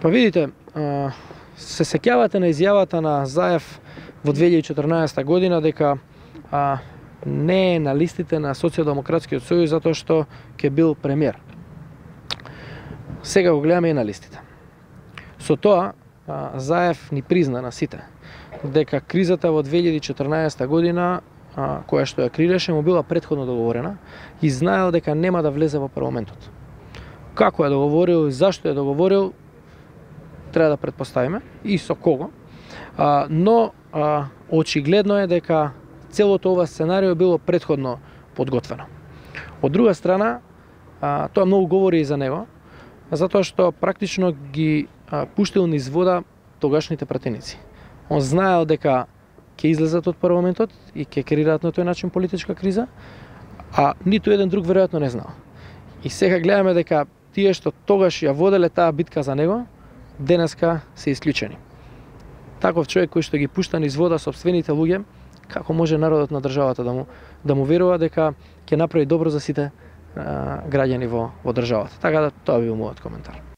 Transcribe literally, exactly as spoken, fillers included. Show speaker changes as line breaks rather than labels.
Па видите, се сеќавате на изјавата на Заев во две илјади и четрнаесетта година дека а, не е на листите на Социјалдемократскиот сојуз затоа што ќе бил премиер. Сега го гледаме и на листите. Со тоа а, Заев ни призна на сите дека кризата во две илјади и четрнаесетта година, а, која што ја креираше, му била претходно договорена и знаел дека нема да влезе во парламентот. Како е договорил и зашто е договорил, треба да предпоставиме и со кого, а, но а, очигледно е дека целото ова сценарио било претходно подготвено. Од друга страна, а, тоа многу говори и за него, затоа што практично ги а, пуштил низ вода тогашните пратеници. Он знаел дека ќе излезат од парламентот и ќе креираат на тој начин политичка криза, а ниту еден друг веројатно не знал. И сега гледаме дека тие што тогаш ја воделе таа битка за него, денеска се исклучени. Таков човек кој што ги пушта низ вода сопствените луѓе, како може народот на државата да му да му верува дека ќе направи добро за сите а, граѓани во во државата. Така да тоа би мојот коментар.